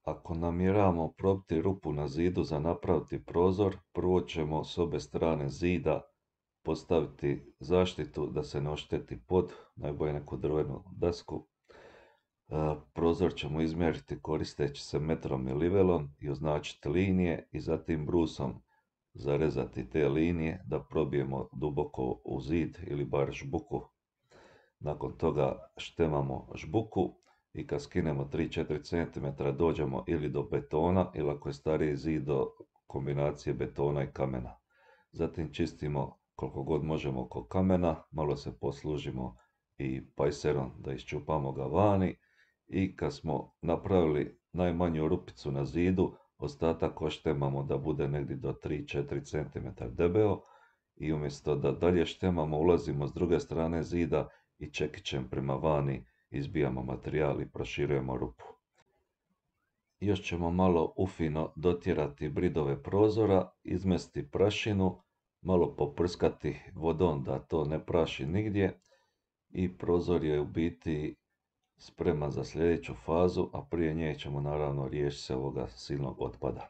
ako namjeravamo probiti rupu na zidu za napraviti prozor, prvo ćemo s obje strane zida postaviti zaštitu da se ne ošteti pod, najbolje neku drvenu dasku. Prozor ćemo izmjeriti koristeći se metrom i livelom i označiti linije i zatim brusom zarezati te linije da probijemo duboko u zid ili bar žbuku. Nakon toga štemamo žbuku i kad skinemo 3-4 cm dođemo ili do betona ili ako je stariji zid do kombinacije betona i kamena. Zatim čistimo koliko god možemo oko kamena, malo se poslužimo i pajserom da iščupamo ga vani i kad smo napravili najmanju rupicu na zidu, ostatak oštemamo da bude negdje do 3-4 cm debeo i umjesto da dalje štemamo ulazimo s druge strane zida i čekićem prema vani izbijamo materijal i proširujemo rupu. Još ćemo malo ufino dotjerati bridove prozora, izmesti prašinu, malo poprskati vodom da to ne praši nigdje i prozor je u biti spreman za sljedeću fazu, a prije nje ćemo naravno riješiti se ovoga silnog otpada.